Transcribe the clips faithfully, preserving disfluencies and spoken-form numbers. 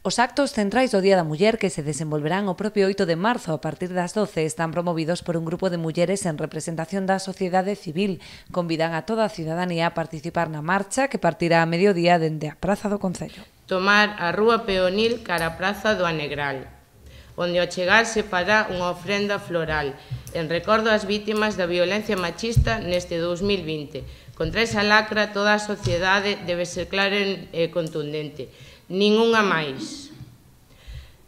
Os actos centrais do Día da Muller que se desenvolverán o propio oito de marzo a partir das doce están promovidos por un grupo de mulleres en representación da sociedade civil. Convidan a toda a cidadanía a participar na marcha que partirá a mediodía dende a Praza do Concello. Tomar a Rúa Peonil cara a Praza do Anegral, onde ao chegar se fará unha ofrenda floral en recordo ás vítimas da violencia machista neste dous mil vinte. Contra esa lacra toda a sociedade debe ser clara e contundente. Nin unha máis.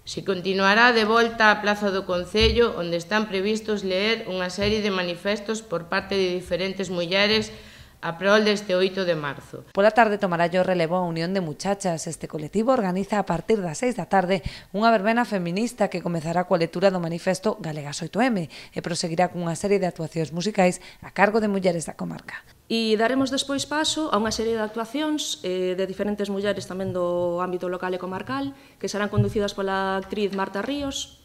Se continuará de volta á Praza do Concello, onde están previstos ler unha serie de manifestos por parte de diferentes mulleres a prol deste oito de marzo. Pola tarde tomará o relevo a Unión de Muchachas. Este colectivo organiza a partir das seis da tarde unha verbena feminista que comezará coa lectura do manifesto Galegas oito eme e proseguirá cunha serie de actuacións musicais a cargo de mulleres da comarca. E daremos despois paso a unha serie de actuacións eh, de diferentes mulleres tamén do ámbito local e comarcal que serán conducidas pola actriz Marta Ríos.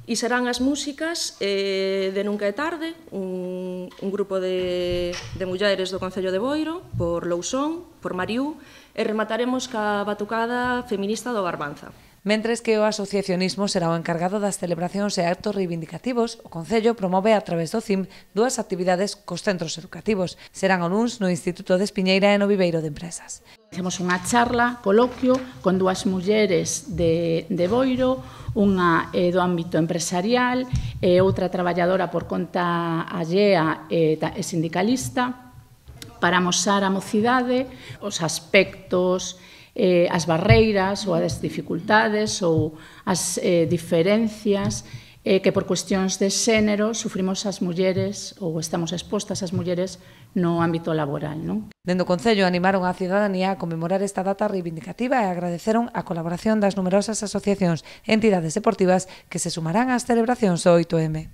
E serán as músicas eh, de Nunca é tarde, un, un grupo de, de mulleres do Concello de Boiro, por Lousón, por Mariú, e remataremos ca batucada feminista do Barbanza. Mentres que o asociacionismo será o encargado das celebracións e actos reivindicativos, o Concello promove a través do C I M dúas actividades cos centros educativos. Serán o luns no Instituto de Espiñeira e no Viveiro de Empresas. Temos unha charla, coloquio, con dúas mulleres de, de Boiro, unha eh, do ámbito empresarial e outra traballadora por conta allea e, e sindicalista, para amosar a mocidade os aspectos, eh, as barreiras ou as dificultades ou as eh, diferencias eh, que por cuestións de xénero sufrimos as mulleres ou estamos expostas as mulleres no ámbito laboral, non? Dende o Concello animaron a cidadanía a conmemorar esta data reivindicativa e agradeceron a colaboración das numerosas asociacións e entidades deportivas que se sumarán ás celebracións do oito eme.